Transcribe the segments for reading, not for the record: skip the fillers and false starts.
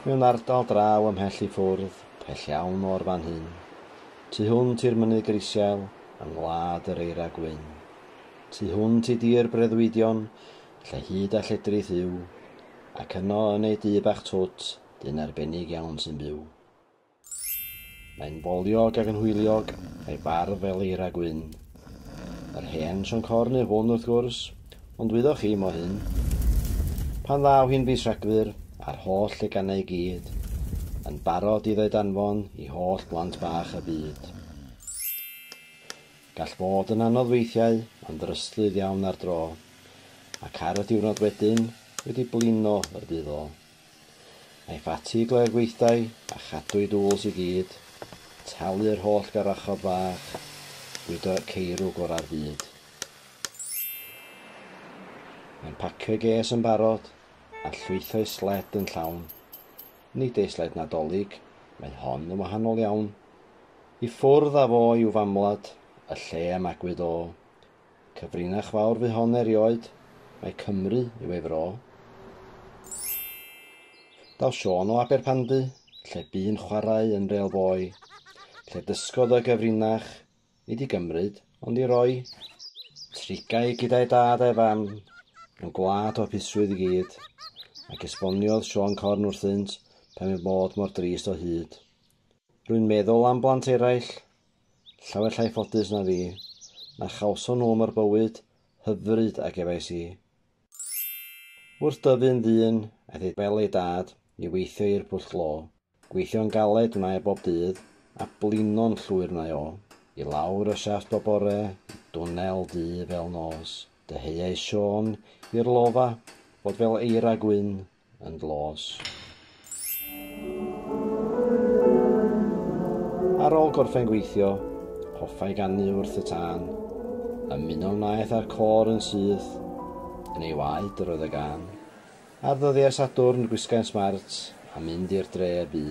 Mewn ardal draw ymhell i ffwrdd, pell iawn o'r fan hyn. Tu hwnt i'r mynydd grisial, yng ngwlad yr eira gwyn. Tu hwnt i dir breuddwydion, lle hyd a lledrith yw, ac yno yn ei dŷ bach twt, dyn arbennig iawn sy'n byw. Mae'n foliog ac yn hwyliog, a'i farf fel eira gwyn. Yr hen Siôn Corn yw hwn wrth gwrs, ond wyddoch chi mo hyn. Pan ddaw hi'n fis Rhagfyr, a'r holl leganau i gyd, yn barod i ddoed anfon i holl blant bach y byd. Gall fod yn anodd weithiau, ond ddryslyd iawn ar dro, ac ar y diwrnod wedyn, wedi blino y bydd o. A'i ffati gloi'r gweithdai, a chadw'i dŵls i gyd, talu'r holl garachod bach, bwydo ceirw gora'r byd. Mae'n pacio'i ges yn barod, a llwytho'i sled yn llawn. Nid ei sled Nadolig, mae hon yn wahanol iawn. I ffwrdd â fo i'w famwlad, y lle y magwyd o. Cyfrinach fawr fu hon erioed, mae Cymru yw ei fro. Daw Siôn o Aberpandy, lle bu'n chwarae yn real boy, lle dysgodd y gyfrinach, nid i gymryd, ond i roi. Trigai gyda'i dad a'i fam, mewn gwlad o hapusrwydd i gyd, ac esboniodd Siôn Corn wrthynt pam ei bod mor drist o hyd. Rwy'n meddwl am blant eraill, llawer llai ffodus na fi, na chawson nhw mo'r bywyd hyfryd a gefais i. Wrth dyfu'n ddyn, aeth ei fel ei dad i weithio i'r pwll glo. Gweithio'n galed wnae bob dydd, a blino'n llwyr wnae o. I lawr y siafft bob bore, i dwnnel du fel nos. Dyheuai Siôn i'r lofa fod fel eira gwyn yn dlos. Ar ôl gorffen gweithio, hoffai ganu wrth y tân. Ymuno wnaeth â'r côr yn syth, yn ei waed yr oedd y gân. Ar ddyddiau Sadwrn gwisgai'n smart a mynd i'r dre y bu,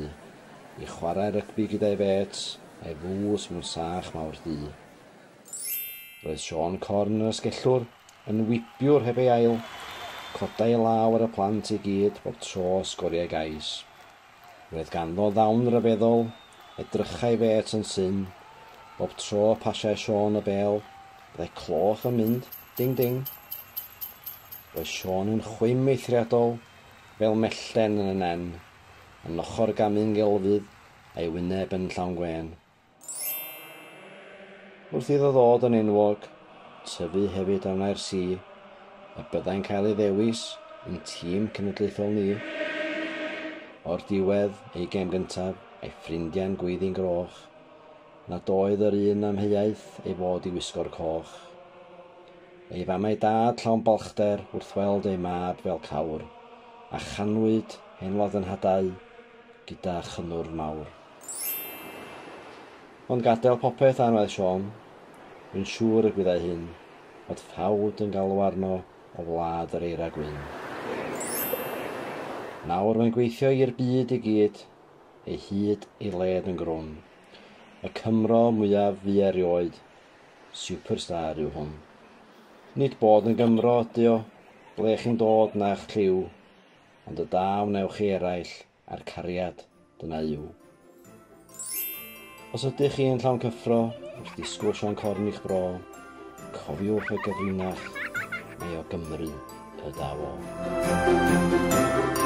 i chwarae rygbi gyda'i fêts a'i fws mewn sach mawr du. Roedd Siôn Corn yn ysgellwr, yn wibiwr heb ei ail, codai ei law ar y plant i gyd bob tro sgoriai gais. Roedd ganddo ddawn ryfeddol, edrychai fêts yn syn, bob tro pasiai Siôn y bêl, byddai cloch yn mynd, ding ding. Roedd Siôn yn chwim eithriadol, fel mellten yn y nen, yn ochr gamu'n gelfydd a'i wyneb yn llawn gwên. Wrth iddo ddod yn enwog, tyfu hefyd a wnai'r si, y byddai'n cael ei ddewis yn tîm cenedlaethol ni. O'r diwedd, ei gêm gyntaf, a'i ffrindiau'n gweiddi'n groch, nad oedd yr un amheuaeth ei fod i wisgo'r coch. Ei fam a'i dad llawn balchder wrth weld ei mab fel cawr, a chanwyd hen wlad yn hadau gyda chynnwrf mawr. Ond gadael popeth anwedd Siôn, rwy'n siŵr y gwyddai hyn, fod ffawd yn galw arno o wlad yr eira gwyn. Nawr mae'n gweithio i'r byd i gyd, ei hyd ei led yn grwn. Y Cymro mwyaf fu erioed, superstar yw hwn. Nid bod yn Gymro ydy o, ble chi'n dod na'ch lliw, ond y da wnewch chi eraill a'r cariad dyna yw. Os ydych chi yn llawn cyffro wrth ddisgwyl Siôn Corn i'ch bro, cofiwch y gyfrinach, mae o Gymru y daw o.